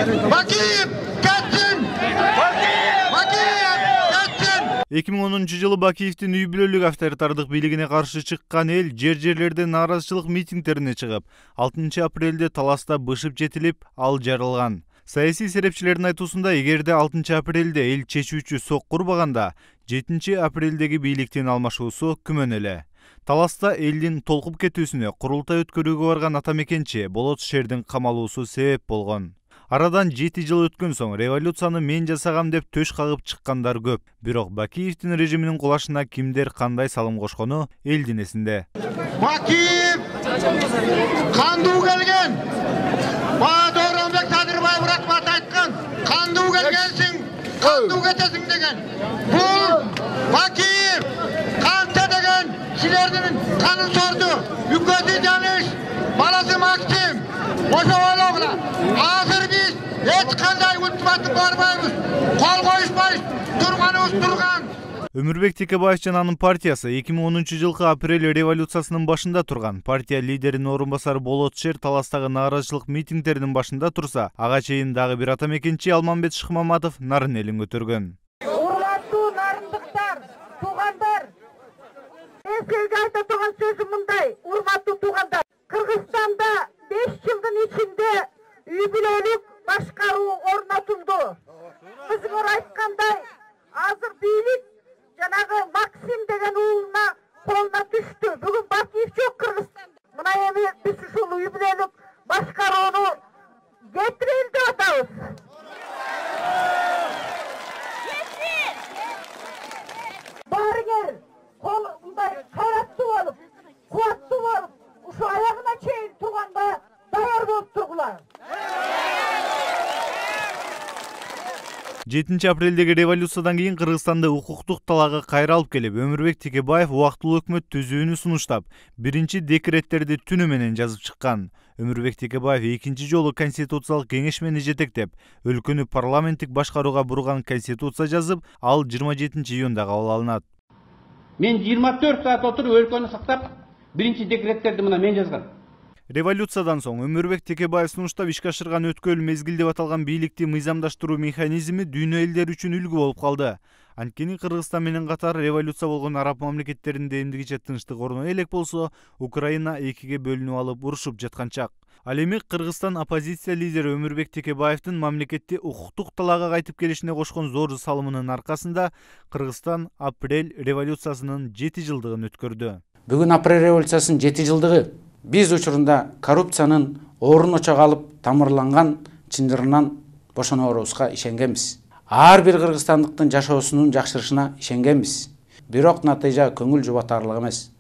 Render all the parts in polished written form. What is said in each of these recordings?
Бакиев кетсин! Бакиев кетсин! 2010-жылы Бакиевдин үй бүлөлүк авторитардык бийлигине каршы чыккан эл жер-жерлерде нааразычылык митингдерине чыгып, 6 апрелде таласта бышып жетилип, ал жарылган. Саясий серепчилердин айтуусунда, эгерде 6 апрелде эл чечүүчү сок курбаганда, 7 апрелдеги бийликтин алмашуусу күмөн эле. Таласта элдин толкуп кетүүсүнө курултай өткөрүүгө барган ата мекенчи Болот шердин камалуусу себеп болгон. Арадан 7 жыл өткөн соң революцияны мен жасагам деп төш кагып чыккандар көп. Бирок Бакиевдин режиминин кулашына кимдер кандай салым кошкону элдин эсинде. Бакиев кандуу келген. Баадоронбек Садырбаев рахмат айткан. Кандуу келгенсиң, кандуу кетесиң деген. Бул Бакиев канча деген силердин канын сорду. Үкөтү Жаныш, баласы Максим. Ошо ойлогула. Азыр биз эч кандай ультиматум барбайбыз. Кол коюшпайбыз. Турганыбыз турган. Өмүрбек Текебаев жана анын партиясы 2010-жылкы апрель революциясынын башында турган. Партия лидеринин орун басары Болот шер таластагы нааразычылык митингдеринин башында турса, ага чейин дагы бир ата мекенчи Алмамбет Шыкмаматов нарын элин көтөргөн. Урматтуу нарындыктар, туугандар, мен силерге айта турган сөзүм мындай, урматтуу туугандар. Кыргызстанда 5 жылдын ичинде үй бүлөлүк башкаруу орнотулду. Кызыңар айткандай, азыр бийлик жанагы Максим деген уулуна колуна түштү. Бүгүн Бакиев жок Кыргызстанда. Мына эми биз ушул үй бүлөлүк башкарууну кетирели деп атабыз. Барыңер, кол мындай кайраттуу болуп, кубаттуу болуп, ушу аягына чейин турганга даяр болуп тургула. 7 апрелдеги революциядан кийин Кыргызстанда укуктук талаага кайра алып келип, Өмүрбек Текебаев убактылуу өкмөт түзүүнү сунуштап, биринчи декреттерди түнү менен жазып чыккан. Өмүрбек Текебаев экинчи жолу конституциялык кеңешмени жетектеп, өлкөнү парламенттик башкарууга бурган конституция жазып, ал 27 июнда кабыл алынат. Мен 24 саат отуруп өлкөнү сактап, биринчи декреттерди мына мен жазгам. Революциядан соң Өмүрбек Текебаев сунуштап ишке ашырган өткөл мезгил деп аталган бийликти мыйзамдаштыруу механизми дүйнө элдери үчүн үлгү болуп калды. Анткени Кыргызстан менен катар революция болгон араб мамлекеттеринде эмдигиче тынчтык орно элек болсо, Украина экиге бөлүнүп алып урушуп жаткан чак. Ал эми Кыргызстан оппозиция лидери Өмүрбек Текебаевдин мамлекетти укуктук талаага кайтып келишине кошкон зор салымынын аркасында Кыргызстан апрель революциясынын 7 жылдыгын өткөрдү. Бүгүн апрель революциясынын 7 жылдыгы. Биз учурунда коррупциянын орун очогу алып тамырланган чындырынан бошонорубузга ишенгенбиз. Ар бир кыргызстандыктын жашоосунун жакшырышына ишенгенбиз. Бирок натыйжа көңүл жубатарлык эмес.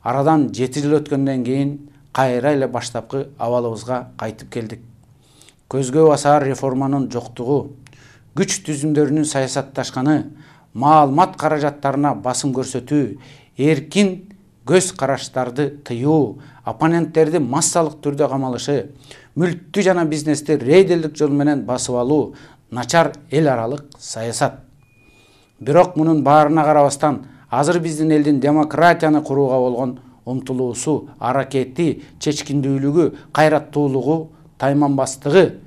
Арадан 7 жыл өткөндөн кийин кайра эле баштапкы абалыбызга кайтып келдик. Көзгө басар реформанын жоктугу, күч түзүмдөрүнүн саясатташканы, маалымат каражаттарына басым көрсөтүү, эркин көз караштарды тыюу, оппоненттерди массалык түрдө камалышы, мүлктү жана бизнести рейдерлик жол менен басып алуу, начар эл аралык саясат. Бирок мунун баарына карабастан, азыр биздин элдин демократияны курууга болгон умтулуусу, аракети, чечкиндүүлүгү, кайраттуулугу, тайманбастыгы,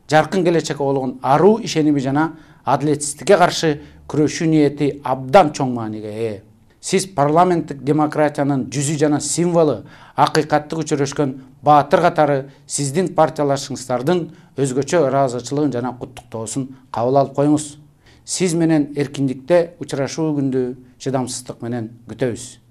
жаркын келечекке болгон аруу ишеними жана адилетсиздикке каршы күрөшүү ниети абдан чоң мааниге ээ. Сиз парламенттик демократиянын жүзү жана символу, акыйкаттык өчүрөшкөн баатыр катары сиздин партиялашыңыздардын өзгөчө ыраазычылыгын жана куттуктоосун кабыл алып коюңуз. Сиз менен эркиндикте учурашуу күндү чыдамсыздык менен күтөбүз.